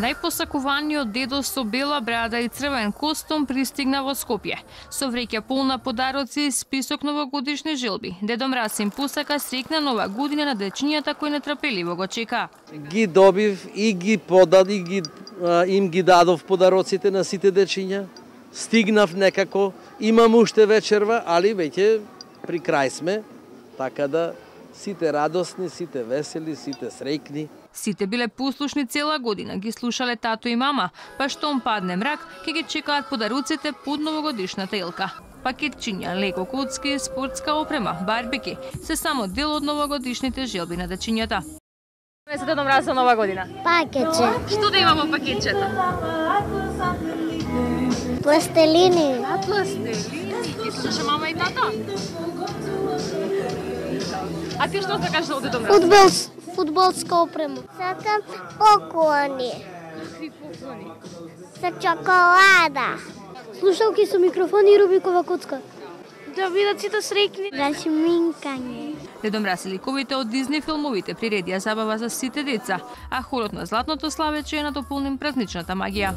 Најпосакуваниот дедо со бела брада и црвен костум пристигна во Скопје. Со вреќа полна подароци и список новогодишни желби. Дедо Мраз им посака среќна нова година на дечињата кои нетрпеливо го чека. Ги добив и ги им ги дадов подароците на сите дечиња. Стигнав некако, имам уште вечерва, али веќе при крај сме, така да сите радосни, сите весели, сите среќни. Сите биле послушни цела година, ги слушале тато и мама, па штом падне мрак, ќе ги чекаат подаруците под новогодишната елка. Пакетчиња, леко коцки, спортска опрема, барбеки, се само дел од новогодишните желби на дечињата. Се Дедо Мраз за нова година? Пакетче. Што да има во пакетчето? Пластелини. Пластелини. Ги слушаше мама и тата? А ти што сакаш од Дедо Мраз? Фудбалска опрема. Сакам поклони. Какви поклони? Со чоколада. Слушалки со микрофон и Рубикова коцка. Да бидат сите среќни. За шминкање. Дедо Мраз и ликовите од Дизни филмовите приредија забава за сите деца, а хорот на Златното славече е надополнен празничната магија.